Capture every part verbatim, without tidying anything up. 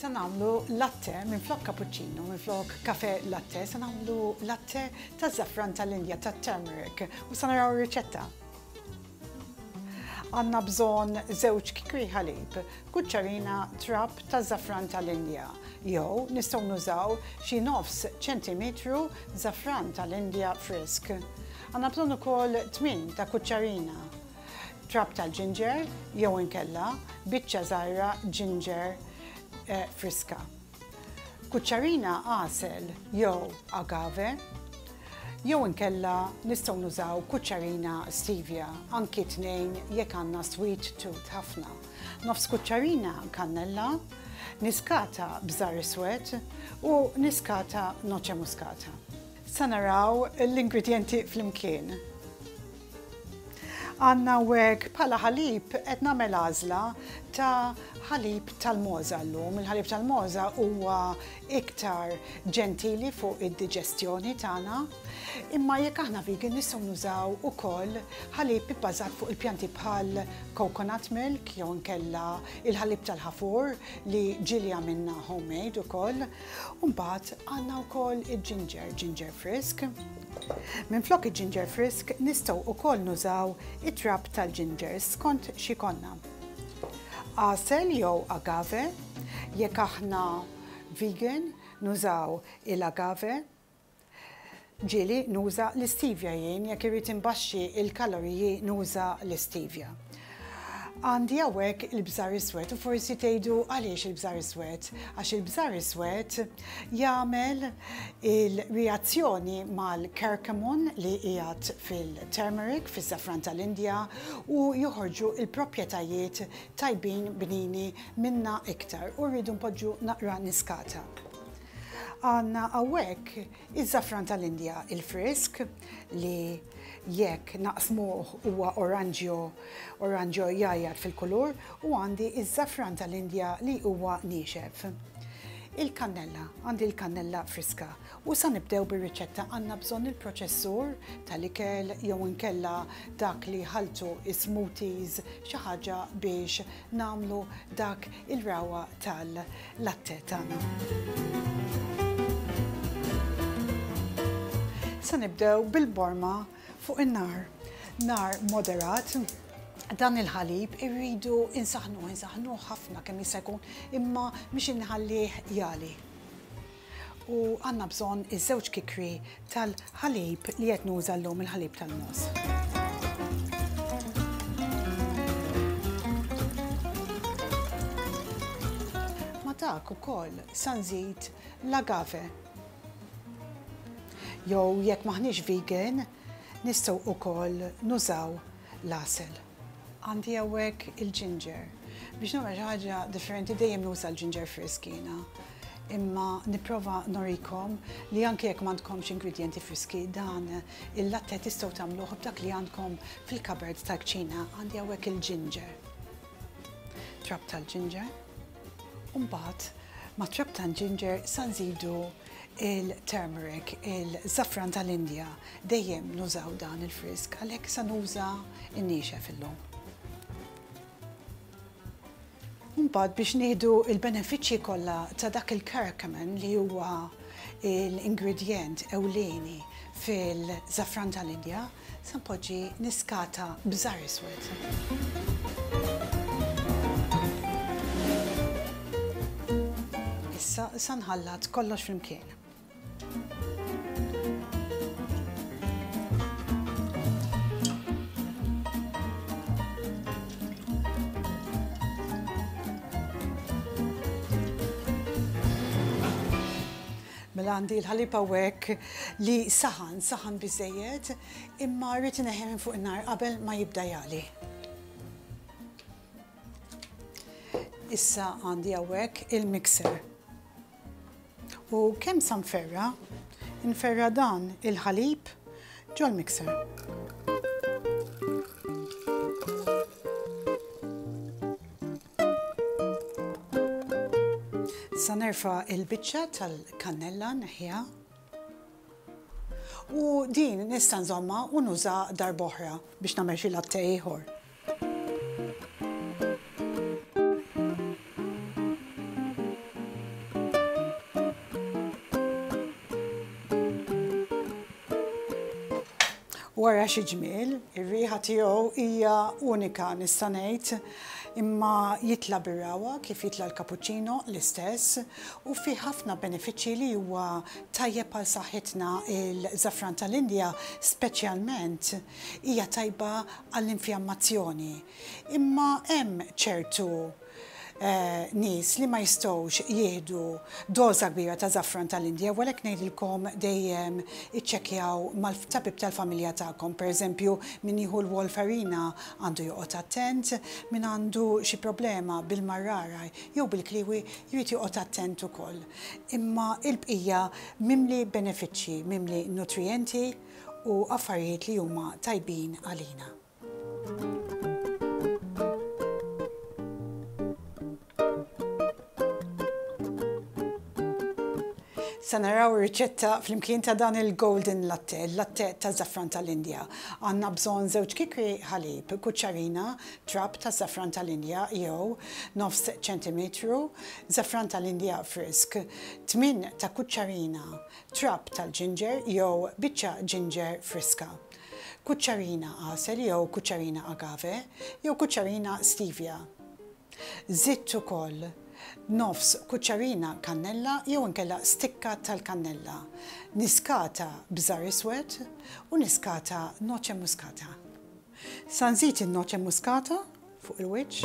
Sa nagħmlu latte minflok cappuccino, minflok kafe latte, sa nagħmlu latte ta' żafran tal-Indja, ta' turmeric, u sa naraw riċetta. Għandna bżonn żewġ kikri ħalib, kuċċarina trab ta' żafran tal-Indja, jew nistgħu nużaw xi nofs ċentimetru żafran tal-Indja frisk. Għandna bżonn ukoll tmien ta' kuċċarina trab tal-ginger jew inkella biċċa żgħira ginger eh, friska. Kuċċarina għasel jew agave, jew inkella nistgħu nużaw kuċċarina stevia, anki tnejn jekk għandna sweet tooth ħafna. Nofs kuċċarina kannella, niskata bżar iswed u niskata noce muskata. Sa naraw l-ingredienti flimkien. Għandna hawnhekk bħala ħalib qed nagħmel għażla ta' ħalib tal-mogħża llum. Il-ħalib tal-mogħża huwa iktar ġentili fuq id-diġestjoni tagħna. Imma jekk aħna vegan nistgħu nużaw ukoll ħalib ibbażat fuq il-pjanti bħal coconut milk jew inkella il-ħalib tal-ħafur li ġieli għamilna homemade ukoll. U mbagħad għandna wkoll il-ginger, ginger frisk. Minflok il-ginger frisk nistgħu ukoll nużaw it-trab tal-ginger skont x'ikollna. Għasel jew agave, jekk aħna vegan nużaw il-agave, ġieli nuża l-stevia jien, jekk irrid imbaxxi il-kaloriji nuża l-stevia. Għandi hawnhekk il-bżar iswed u forsi tgħidu għaliex il-bżar iswed? Għax il-bżar iswed jagħmel il-reazzjoni mal-curcumon li qiegħed fil-turmeric, fis-safran tal-Indja, u joħorġu il-proprjetajiet tajbin bnini minna iktar u rridu npoġġu naqra niskata. Għandna hawnhekk iż-żafran tal-Indja il-frisk li jekk naqsmuh huwa oranġjo, oranġjo jgħajjat fil-kulur, u għandi iż-żafran tal-Indja li huwa niexef. Il-kannella, għandi l-kannella friska. U sa nibdew bir-riċetta. Għandna bżonn il-proċessur tal-ikel jew inkella dak li ħaltu smoothies, xi ħaġa biex nagħmlu dak il-rawa tal-latte tagħna. Sa nibdew bil-borma fuq in-nar. Nar moderat. Dan il-ħalib irridu insaħnu, insaħnu ħafna kemm jista' jkun, imma mhix inħallih jali. U għandna bżonn iż-żewġ kikri tal-ħalib li qed nuża llum, il-ħalib tal-mogħoż. Ma dak ukoll sa nżid l-agave. Jew jekk maħniex vegan, nistgħu ukoll nużaw l-għasel. Għandi hawnhekk il-ginger. Biex nagħmel xi ħaġa differenti dejjem nuża l-ginger frisk jiena. Imma nipprova norikom li anke jekk m'għandkomx ingredjenti friski, dan il-latte tistgħu tagħmluh b'dak li għandkom fil-cupboard tal-kċina. Għandi hawnhekk il-ginger. Trab tal-ginger. U mbagħad ma' trab tal-ginger sa nżidu il-turmeric, il-żafran tal-Indja. Dejjem nużaw dan il-frisk, għalhekk sa nuża n-niexef illum. Mbagħad biex nieħdu il-benefiċċji kollha ta' dak il-curcumin li huwa l-ingredjent ewlieni fil-żafran tal-Indja, sa npoġġi niskata bżar iswed. Issa sa nħallat kollox flimkien. Mela għandi l-ħalib hawnhekk li saħan, saħan biżejjed, imma rrid ineħħi minn fuq in-nar qabel ma jibda jagħli. Issa għandi hawnhekk il-mixer. U kemm sa nferra? Nferra dan il-ħalib ġol-mixer. Sa nerfa' il-biċċa tal-kannella neħja. U din nista' nżomma u nuża darb'oħra biex nagħmel xi latte ieħor. Wara xi ġmiel, ir-riħa tiegħu hija unika nista' ngħid, imma jitla' bir-ragħwa kif jitla' l-cappuccino l-istess u fih ħafna benefiċċji li huwa tajjeb għal saħħitna. Il-żafran tal-Indja speċjalment hija tajba għall-infjammazzjoni. Imma hemm ċertu eh, nies li ma jistgħux jieħdu doża kbira ta' żafran tal-Indja, u għalhekk ngħidilkom dejjem iċċekkjaw mal-tabib tal-familja tagħkom. Pereżempju, min jieħu l-warfarina għandu joqgħod attent, min għandu xi problema bil-marrara jew bil-kliwi jrid joqgħod attent ukoll. Imma il-bqija mimli benefiċċji, mimli nutrijenti u affarijiet li huma tajbin għalina. Sa naraw riċetta flimkien ta' dan il-golden latte, il-latte ta' żafran tal-Indja. Għandna bżonn żewġ kikri ħalib, kuċċarina, trab ta' żafran tal-Indja jew nofs ċentimetru, żafran tal-Indja frisk, tmien ta' kuċċarina, trab tal-ġinġer jew biċċa ġinġer friska, kuċċarina għasel jew kuċċarina agave jew kuċċarina stevia. Żidt ukoll nofs kuċċarina kannella jew inkella stikka tal-kannella, niskata bżar iswed u niskata noce muskata. Sa nżid in-noce muskata fuq il-wiċċ.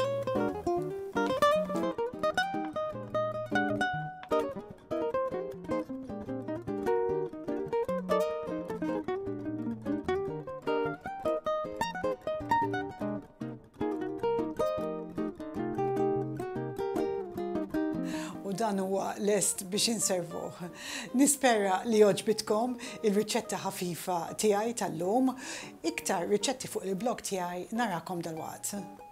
U dan huwa lest biex inservuh. Nispera li għoġbitkom il-riċetta ħafifa tiegħi tal-lum. Iktar riċetti fuq il-blog tiegħi, narakom dalwaqt.